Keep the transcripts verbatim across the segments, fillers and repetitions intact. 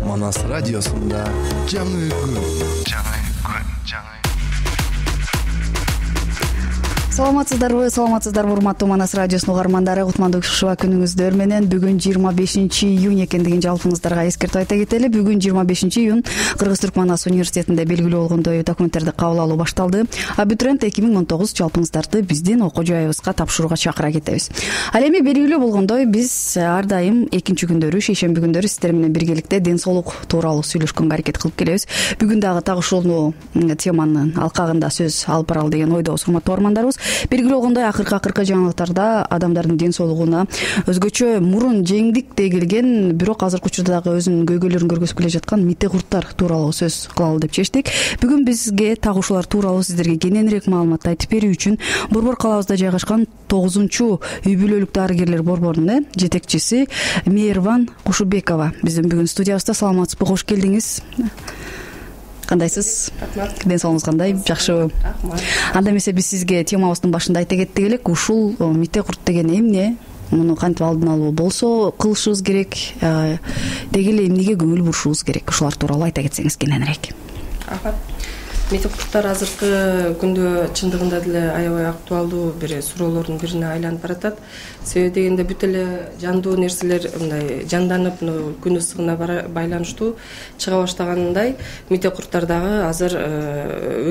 Манас радиосунда жаңы күн. Жаңы күн, жаңы. Саламатсыздарбы, саламатсыздарбы урматтуу Манас радиосунун угармандары. Кутмандуу шуба күнүңүздөр менен бүгүн жыйырма бешинчи июнь экендигин жалпыңыздарга эскертип айта кетели. Бүгүн жыйырма бешинчи июнь Кыргыз Түрк Манас университетинде белгилүү болгондой документтерди кабыл алуу башталды. Абитуриент эки миң он тогуз жалпыңыздарды биздин окуу жайыбызга тапшырууга чакыра кетебиз. Ал эми белгилүү болгондой биз ар дайым экинчи күндөрү, шейшемби күндөрү сиздер менен биргеликте ден соолук тууралуу сүйлөшкөнгө аракет кылып келебиз. Бүгүн дагы так ушул теманын алкагында сөз алып баралы деген ойдобуз, урматтуу угармандарыбыз. Белгилүү болгондой акыркы акыркы жаңылыктарда адамдардын ден соолугуна өзгөчө мурун жеңдик дей келген, бирок азыркы учурда дагы өзүнүн көйгөйлөрүн көргөзүп келе жаткан мите курттар тууралуу сөз кылалы деп чечтик. Бүгүн бизге так ушулар тууралуу сиздерге кененирээк маалымат айтып берүү үчүн Борбор калабызда жайгашкан тогузунчу үй бүлөлүк дарыгерлер борборунун жетекчиси Мейирбан Кушубекова биздин бүгүн студиябызда. Саламатсызбы, кош келдиңиз. Кандайсыз? Рахмат. Ден соолугуңуз кандай? Жакшыбы? Рахмат. Анда эмесе биз сизге темабыздын башында айта кеттик элек. Ушул мите курт деген эмне? Муну кантип алдын алуу болсо кылышыбыз керек, деги эле эмнеге көңүл бурушубуз керек? Ушулар тууралуу айта кетсеңиз кененирээк. Рахмат. Мите курттар азыркы күндө чындыгында деле аябай актуалдуу бир суроолордун бирине айланып баратат. Себеби дегенде бүт эле жандуу нерселер мындай жанданып, күн ысыгына байланыштуу чыга баштагандай, мите курттар дагы азыр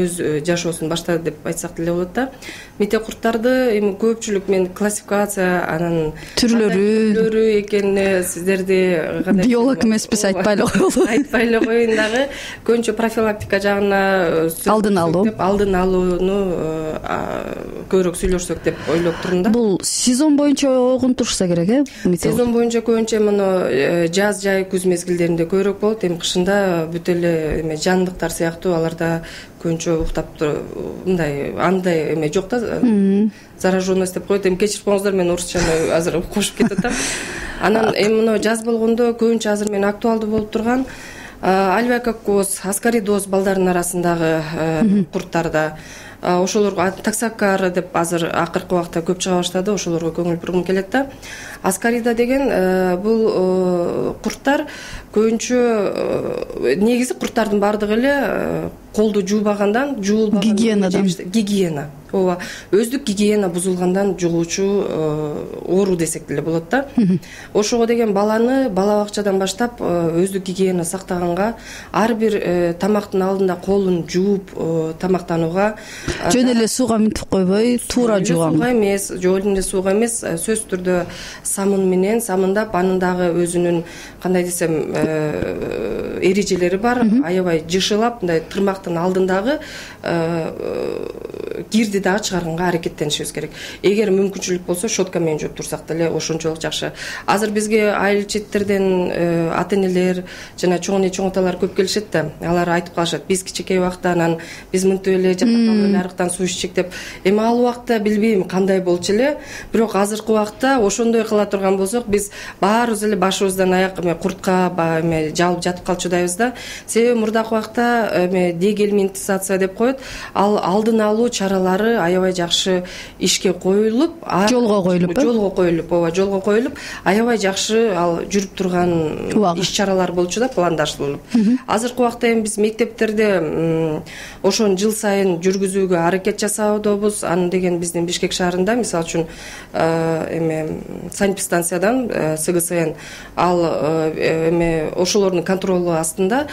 өз жашоосун баштады деп айтсак деле болот да. Мите курттарды эми көпчүлүк мен классификация анан түрлөрү экенине сиздерди биолог эмеспиз, айтпай эле коелу. Айтпай эле коеюн дагы. Көбүнчө профилактика жагына алдын алуу алдын алууну көбүрөөк сүйлөшсөк деп ойлоп турум да. Бул сезон боюнча огунтурса керек, э? Сезон боюнча көбүнчө муну жаз, жай, күз мезгилдеринде көбүрөөк болот. Эми кышында бүт эле эме жандыктар сыяктуу аларда көбүнчө уктап мындай андай эме жок да, зараженность деп коет. Эми кечирип коюңуздар, мен орусчаны азыр кошуп кетип атам. Анан эми муну жаз болгондо көбүнчө азыр мен актуалдуу болуп турган альвеококкоз, аскаридоз балдардын арасындагы курттарда, ошолорго таксокара деп азыр акыркы убакта көп чыга баштады, ошолорго көңүл бургум келет да. Аскарида деген бул курттар көбүнчө негизи курттардын баардыгы эле колду жуубагандан, жуулбагандан, гигиенадан, гигиена, ооба, өздүк гигиена бузулгандан жугуучу оору десек деле болот да. Ошого деген баланы бала бакчадан баштап өздүк гигиена сактаганга, ар бир тамактын алдында колун жууп тамактанууга, жөн эле сууга минтип койбой, туура жууган. Сууга эмес, жөн эле сууга эмес, сөзсүз түрдө самын менен самындап, анын дагы өзүнүн кандай десем эрежелери бар. Аябай жышылап, мындай тырмактын алдындагы кирди дагы чыгарганга аракеттенишибиз керек. Эгер мүмкүнчүлүк болсо щетка менен жууп турсак деле ошончолук жакшы. Азыр бизге айыл четтерден ата-энелер жана чоң эне чоң аталар көп келишет да. Алар айтып калышат: биз кичинекей убакта анан биз мынтип эле жапакалуу эле арыктан суу иччек деп. Эми ал убакта билбейм кандай болчу эле, бирок азыркы убакта ошондой кыла турган болсок, биз баарыбыз эле башыбыздан аяк эме куртка эме жалып жатып калчудайбыз да. Себеби мурдакы убакта эме дегельминтизация деп коет, ал алдын алуу чаралары аябай жакшы ишке коюлуп, жолго коюлуп, жолго коюлуп, ооба, жолго коюлуп, аябай жакшы ал жүрүп турган иш чаралар болчу да, пландаштырылып. Азыркы убакта эми биз мектептерде ошону жыл сайын жүргүзүүгө аракет жасаудобуз. Аны деген биздин Бишкек шаарында, мисалы үчүн, эме санэпидстанциядан СГСН ал эме ошолордун контролу астында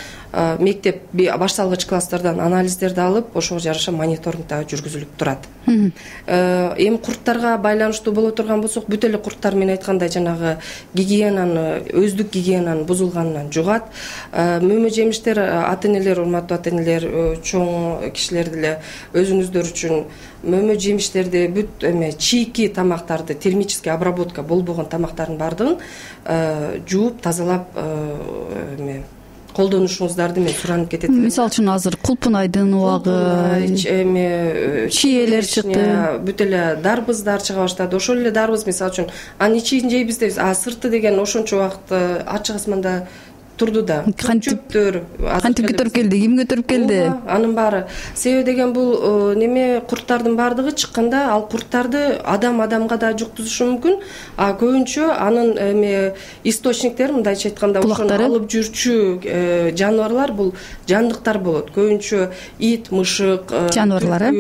мектеп башталгыч класстардан анализдерди алып, ошого жараша мониторинг дагы жүргүзүлүп турат. Эми курттарга байланыштуу боло турган болсок, бүт эле курттар мен айткандай жанагы гигиенаны, өздүк гигиенанын бузулганынан жугат. Мөмө жемиштер, ата-энелер, урматтуу ата-энелер, чоң кишилер деле өзүңүздөр үчүн мөмө жемиштерди, бүт эме чийки тамактарды, термический обработка болбогон тамактардын баардыгын жууп, тазалап эме колдонушуңуздарды мен суранып кетет элем. Мисалы үчүн азыр кулпунайдын убагы, эме чиелер чыкты, бүт эле дарбыздар чыга баштады. Ошол эле дарбыз, мисалы үчүн, анын ичин жейбиз дейбиз, а сырты деген ошончо убакыт ачык асманда турду да. Чөптөр кантип көтөрүп келди, ким көтөрүп келди? Анын баары. Себеби деген бул неме курттардын баардыгы чыкканда ал курттарды адам адамга да жуктузушу мүмкүн. А көбүнчө анын эме источниктери, мындайча айтканда, ошону алып жүрчү жаныбарлар бул жандыктар болот. Көбүнчө ит, мышык, жаныбарлар,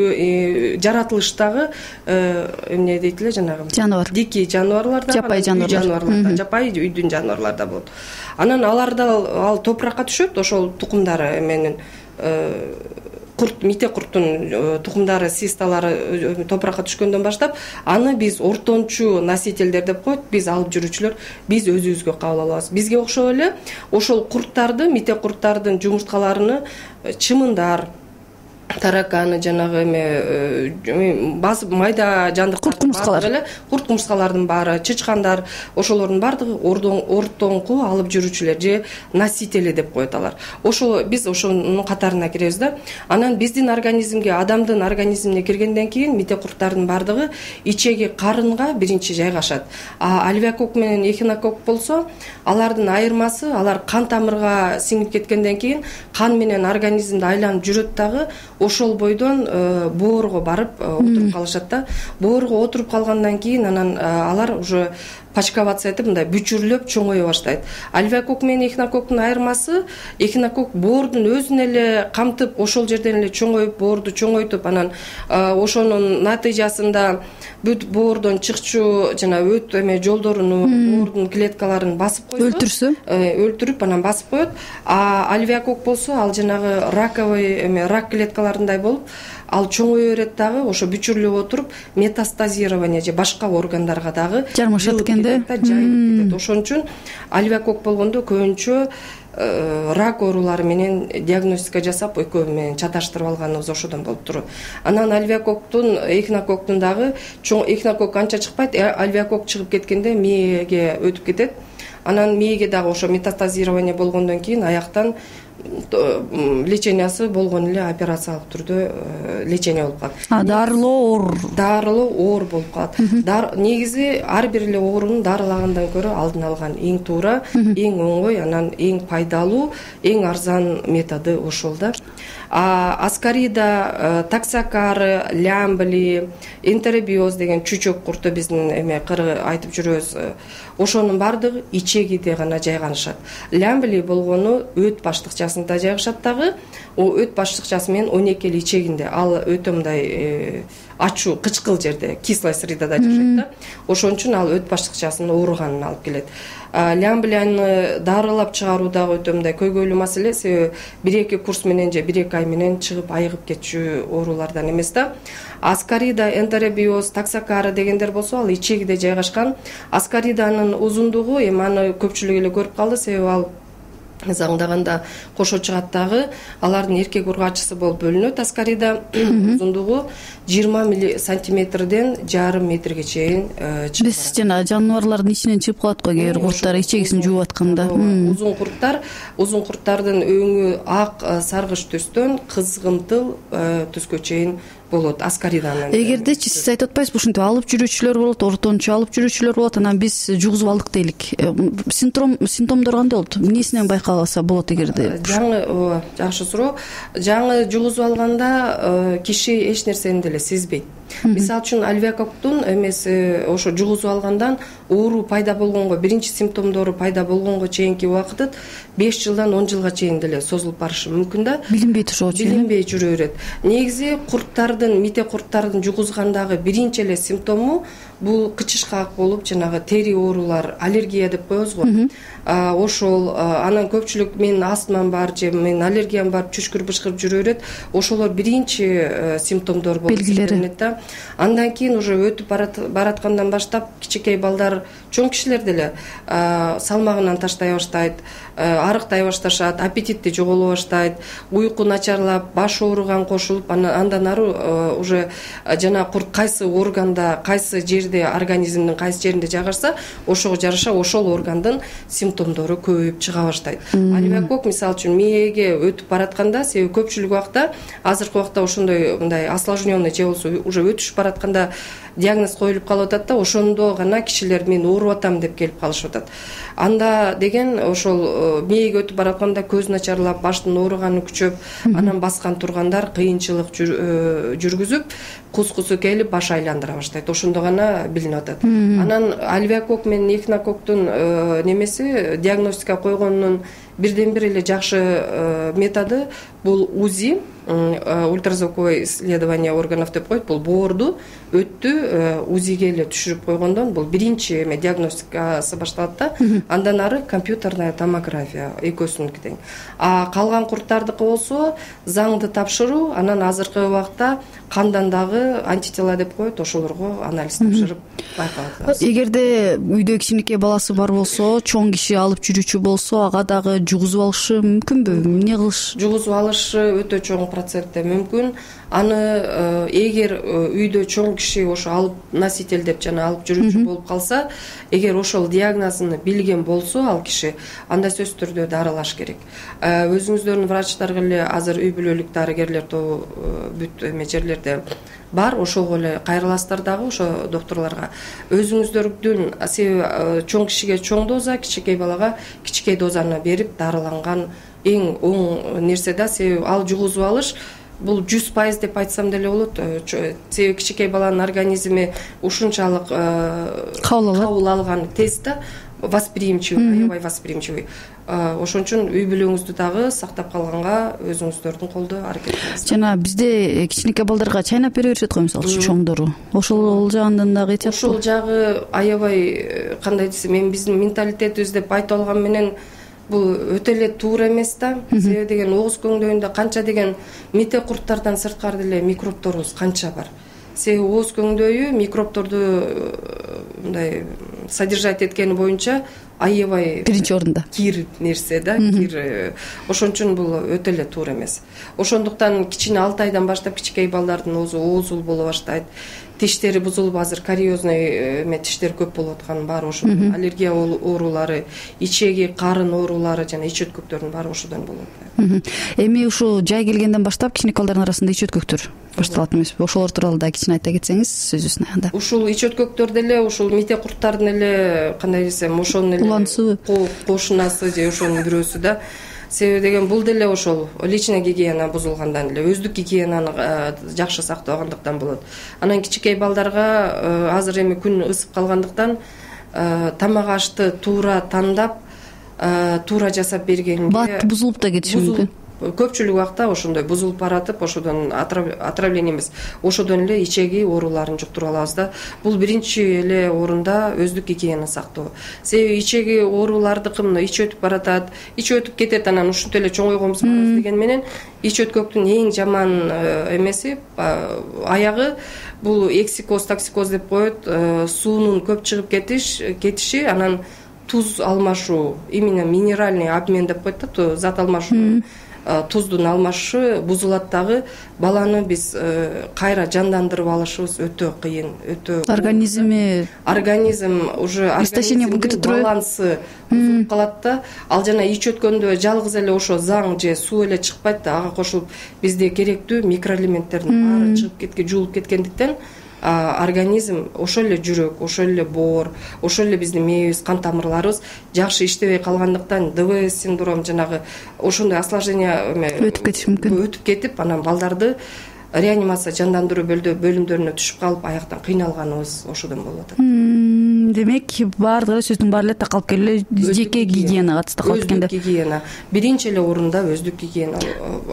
жаратылыштагы эмне дейт эле жанагы жаныбар, дикий жаныбарлар да, жапайы жаныбарлар, жапайы үйдүн жаныбарлары да болот. Анан алар да ал топуракка түшөт, ошол тукумдары эменин курт, мите курттун тукумдары, систалары топуракка түшкөндөн баштап, аны биз ортончу носительдер деп коет, биз алып жүрүүчүлөр, биз өзүбүзгө кабыл алабыз. Бизге окшоп эле ошол курттарды, мите курттардын жумурткаларыны чымындар, тараканы, жанагы эме басып майда жандыктар, курт кумурскалар эле, курт кумурскалардын баары, чычкандар, ошолордун баардыгы ортоңку алып жүрүүчүлөр же носители деп коет алар. Ошол биз ошонун катарына киребиз да. Анан биздин организмге, адамдын организмине киргенден кийин мите курттардын баардыгы ичеги карынга биринчи жайгашат. А альвеокок менен эхинокок болсо, алардын айырмасы, алар кан тамырга сиңип кеткенден кийин кан менен организмди айланып жүрөт дагы, ошол бойдон боорго барып отуруп калышат да. Боорго отуруп калгандан кийин анан алар уже пачковаться этип, мындай бүчүрлөп чоңое баштайт. Альвеокок менен эхинококтун айырмасы, эхинокок боордун өзүн эле камтып, ошол жерден эле чоңоюп, боорду чоңойтуп, анан ошонун натыйжасында бүт боордон чыкчу жана өт эме жолдоруну, боордун клеткаларын басып койсо, өлтүрсө, өлтүрүп анан басып коет. А альвеокок болсо, ал жанагы раковый эме рак клеткаларындай болуп, ал чоңое берет дагы, ошо бүчүрлөп отуруп, метастазирование же башка органдарга дагы жармашат экен да, жайылып кетет. Ошон үчүн альвеокок болгондо көбүнчө рак оорулары менен диагностика жасап, экөө менен чаташтырып алганыбыз ошодон болуп турат. Анан альвеококтун, эхинококтун дагы чоң эхинокок канча чыкпайт, альвеокок чыгып кеткенде мээге өтүп кетет. Анан мээге дагы ошо метастазирование болгондон кийин аяктан лечениясы болгон эле операциялык түрдө лечение болуп калат. А дарылоо оор, дарылоо оор болуп калат. Негизи ар бир эле оорунун дарылагандан көрө алдын алган эң туура, эң оңой, анан эң пайдалуу, эң арзан методу ошол да. Аскарида, таксокары, лямбли, энтеробиоз деген чүчөк курту биздин эме кыргыз айтып жүрөбүз. Ошонун баардыгы ичегиде гана жайганышат. Лямбли болгону өт баштыкчасында жайгашат дагы. О өт баштыкчасы менен он эки ичегинде. Ал өтө мындай ачуу, кычкыл жерде, кислая средада жашайт да. Ошон үчүн ал өт баштыкчасынын ооруганын алып келет. Лямблияны дарылап чыгаруу дагы өтө мындай көйгөйлүү маселе, себеби бир-эки курс менен же бир-эки ай менен чыгып айыгып кетчү оорулардан эмес да. Аскарида, энтеробиоз, таксокары дегендер болсо, ал ичегиде жайгашкан. Аскариданын узундугу, эми аны көпчүлүк эле көрүп калды, себеби ал заңдаганда кошо чыгат дагы, алардын эркек ургачысы болуп бөлүнөт. Аскарида узундугу жыйырма сантиметрден жарым метрге чейин чыгат. Биз жана жаныбарлардын ичинен чыгып калат го, кээ бир курттар ичегисин жууп атканда. Узун курттар, узун курттардын өңү ак саргыч түстөн кызгынтыл түскө чейин болот аскариданын. Эгердечи сиз айтып атпайсызбы, ушинтип алып жүрүүчүлөр болот, ортончу алып жүрүүчүлөр болот, анан биз жугузуп алдык дейлик. Симптом симптомдор кандай болот? Эмнесинен байкалса болот эгерде? Жаңы, жакшы суроо. Жаңы жугузуп алганда киши эч нерсени деле сезбейт. Мисалы үчүн альвеококтун эмеси ошо жугузуп алгандан оору пайда болгонго, биринчи симптомдору пайда болгонго чейинки убакыт беш жылдан он жылга чейин деле созулуп барышы мүмкүн да. Билинбейт ошого чейин. Билинбей жүрө берет. Негизи курттардын, мите курттардын жугузгандагы биринчи эле симптому бул кычышкак болуп, жанагы тери оорулар, аллергия деп коебуз го. Ошол анан көпчүлүк менин астмам бар же менин аллергиям бар, чүчкүр бышкырып жүрө берет. Ошолор биринчи симптомдор болуп эсептелет да. Андан кийин уже өтүп бараткандан баштап кичинекей балдар, чоң кишилер деле салмагынан таштай баштайт, арыктай башташат, аппетити жоголо баштайт, уйку начарлап, баш ооруган кошулуп, андан ары уже жана курт кайсы органда, кайсы жерде жерде организмдин кайсы жеринде жайгашса ошого жараша ошол органдын симптомдору көбөйүп чыга баштайт. Алибакок мисалы үчүн мээге өтүп баратканда, себеби көпчүлүк убакта азыркы убакта ошондой мындай осложненный же болбосо уже өтүшүп баратканда диагноз коюлуп калып атат да, ошондо гана кишилер мен ооруп атам деп келип калышып атат. Анда деген ошол мээге өтүп баратканда көз начарлап, баштын ооруганы күчөп, анан баскан тургандар кыйынчылык жүргүзүп, кус-кусу келип баш айландыра баштайт. Ошондо гана билинип атат. Анан алибакок менен эхинококктун немеси диагностика койгондун бирден бир эле жакшы методу бул УЗИ, ультразвуковое исследование органов деп коет. Бул боорду өттү УЗИге эле түшүрүп койгондон бул биринчи эме диагностикасы башталат да. Андан ары компьютерная томография экөөсүнүкү тең. А калган курттардыкы болсо заңды тапшыруу, анан азыркы убакта кандан дагы антитела деп коет, ошолорго анализ тапшырып байкалат. Эгерде үйдө кичинекей баласы бар болсо, чоң киши алып жүрүүчү болсо, ага дагы жугузуп алышы мүмкүнбү? Эмне кылыш? Жугузуп алышы өтө чоң процентте мүмкүн. Аны эгер үйдө чоң киши ошо алып носитель деп жана алып жүрүүчү болуп калса, эгер ошол диагнозун билген болсо ал киши, анда сөзсүз түрдө дарылаш керек. Өзүңүздөрдүн врачтар эле азыр үй бүлөлүк дарыгерлер тобу бүт эме жерлерде бар, ошого эле кайрыласыздар дагы ошо докторлорго. Өзүңүздөрдүн себеби чоң кишиге чоң доза, кичинекей балага кичинекей дозаны берип дарыланган эң оң нерсе да, себеби ал жугузуп алыш бул жүз пайыз деп айтсам деле болот. Себеби кичинекей баланын организми ушунчалык кабыл алган тез да, восприимчивый, аябай восприимчивый. Ошон үчүн үй бүлөңүздү дагы сактап калганга өзүңүздөрдүн колдо аракет кылыңыз. Жана бизде кичинекей балдарга чайнап бере беришет го, мисалы үчүн чоңдору. Ошол жагынан дагы айтат. Ошол жагы аябай кандай десем, мен биздин менталитетибиз деп айтып алган менен бул өтө эле туура эмес да. Себеби деген ооз көңдөйүндө канча деген мите курттардан сырткары деле микробторубуз канча бар. Себеби ооз көңдөйү микробторду мындай содержать эткени боюнча аябай биринчи орунда кир нерсе да, кир. Ошон үчүн бул өтө эле туура эмес. Ошондуктан кичине алты айдан баштап кичинекей балдардын оозу оозул боло баштайт. Тиштери бузулуп, азыр кариозный эме тиштер көп болуп атканы бар, ошондон аллергия оорулары, ичеги, карын оорулары жана ич өткөктөрдүн баары ошодон болот. Эми ушул жай келгенден баштап кичинекей балдардын арасында ич өткөктөр башталат эмеспи? Ошолор тууралуу да кичине айта кетсеңиз сөзүбүздүн аягында. Ушул ич өткөктөр деле ушул мите курттардын эле кандай десем, ошонун эле уланысы, кошунасы же ошонун бирөөсү да. Себеби деген бул деле ошол личный гигиена бузулгандан эле, өздүк гигиенаны жакшы сактабагандыктан болот. Анан кичинекей балдарга азыр эми күн ысып калгандыктан тамак ашты туура тандап, туура жасап бергенде бат бузулуп да кетиши мүмкүн. Көпчүлүк убакта ошондой бузулуп баратып, ошодон отравление эмес, ошодон эле ичеги ооруларын жуктуруп алабыз да. Бул биринчи эле орунда өздүк гигиена сактоо. Себеби ичеги оорулардыкын ич өтүп баратат, ич өтүп кетет, анан ушинтип эле чоңойгонбуз барабыз деген менен ич өткөктүн эң жаман эмеси, аягы бул эксикоз, токсикоз деп коет, суунун көп чыгып кетиш, кетиши, анан туз алмашуу, именно минеральный обмен деп коет да, зат алмашуу. Туздун алмашышы бузулат дагы, баланы биз кайра жандандырып алышыбыз өтө кыйын, өтө организми организм уже организмдин балансы бузулуп калат да. Ал жана ич өткөндө жалгыз эле ошо заң же суу эле чыкпайт да, ага кошулуп бизде керектүү микроэлементтердин баары чыгып кеткен, жуулуп кеткендиктен организм, ошол эле жүрөк, ошол эле боор, ошол эле биздин мээбиз, кан тамырларыбыз жакшы иштебей калгандыктан ДВС синдром жанагы ошондой осложнение өтүп кетиши мүмкүн. Өтүп кетип, анан балдарды реанимация жандандыруу бөлүмдөрүнө түшүп калып, аяктан кыйналганыбыз ошодон болуп атат. Демек, баардыгы сөздүн баары эле такалып келип эле жеке гигиенага катышты калып эткенде. Өздүк гигиена биринчи эле орунда өздүк гигиена.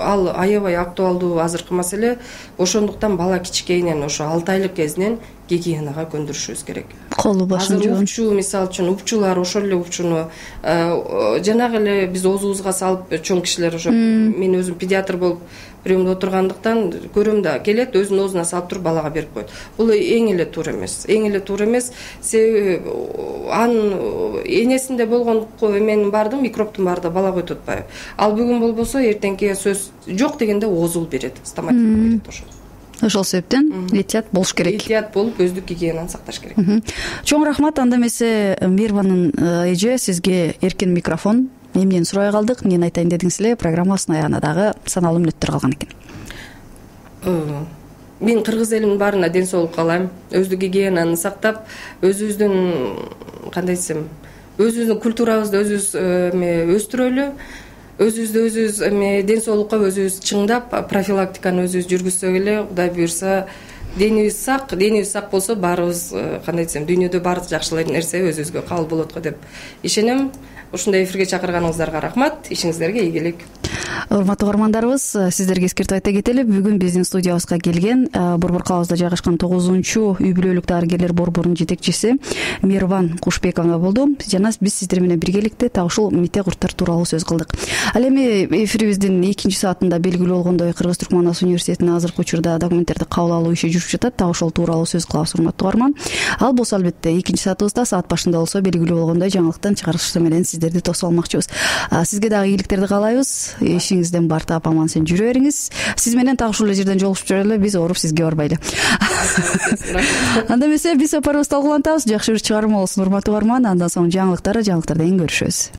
Ал аябай актуалдуу азыркы маселе. Ошондуктан бала кичикейинен, ошо алты айлык кезинен гигиенага көндүрүшүбүз керек. Колу башын жууган. Азыр упчу, мисалы үчүн упчулар ошол эле упчуну жанагы эле биз оозубузга салып, чоң кишилер ошо, мен өзүм педиатр болуп приемдо отургандыктан көрөм да, келет өзүнүн оозуна салып туруп балага берип коет. Бул эң эле туура эмес. Эң эле туура эмес. Себеби анын энесинде болгон эменин баардыгы, микробтун баардыгы балага өтүп атпайбы. Ал бүгүн болбосо эртеңки сөз жок дегенде оозул берет, стоматит берет ошол. ошол себептен этият болуш керек, этият болуп өздүк гигиенаны сакташ керек. Чоң рахмат. Анда эмесе Мейирбанын эже, сизге эркин микрофон. Эмнени сурай калдык, эмнени айтайын дедиңиз эле, программабыздын аягына дагы саналуу мүнөттөр калган экен. Мен кыргыз элинин баарына ден соолук каалайм. Өздүк гигиенаны сактап, өзүбүздүн кандай десем, өзүбүздүн культурабызды өзүбүз өстүрөлү, өзүбүздү өзүбүз эме ден соолукка өзүбүз чыңдап, профилактиканы өзүбүз жүргүзсөк эле, Кудай буюрса, денибиз сак, денибиз сак болсо баарыбыз кандай десем, дүйнөдө баардык жакшы нерсе өзүбүзгө кабыл болот го деп ишенем. Ушундай эфирге чакырганыңыздарга рахмат. Ишиңиздерге ийгилик. Урматтуу угармандарыбыз, сиздерге эскертип айта кетели, бүгүн биздин студиябызга келген Борбор калыбызда жайгашкан тогузунчу үй бүлөлүк дарыгерлер борборунун жетекчиси Мейирбан Кушбекова болду. Жана биз сиздер менен биргеликте так ушул мите курттар тууралуу сөз кылдык. Ал эми эфирибиздин экинчи саатында белгилүү болгондой, Кыргыз-Түркман ас университетинин азыркы учурда документтерди кабыл алуу иши жүрүп жатат. Так ошол тууралуу сөз кылабыз, урматтуу угарман. Ал болсо албетте экинчи саатыбызда саат башында болсо белгилүү болгондой жаңылыктан чыгарышы менен сиздерди тосуп алмакчыбыз. Сизге дагы ийгиликтерди каалайбыз. Ишиңизден бартап аман сен жүрө бериңиз. Сиз менен так ушул жерден жолугушуп жүрөлү, биз ооруп сизге барбайлы. Анда эмесе биз сапарыбызды талкуулантабыз. Жакшы бир чыгарма болсун, урматтуу угарман. Андан соң жаңылыктар, жаңылыктардан кийин көрүшөбүз.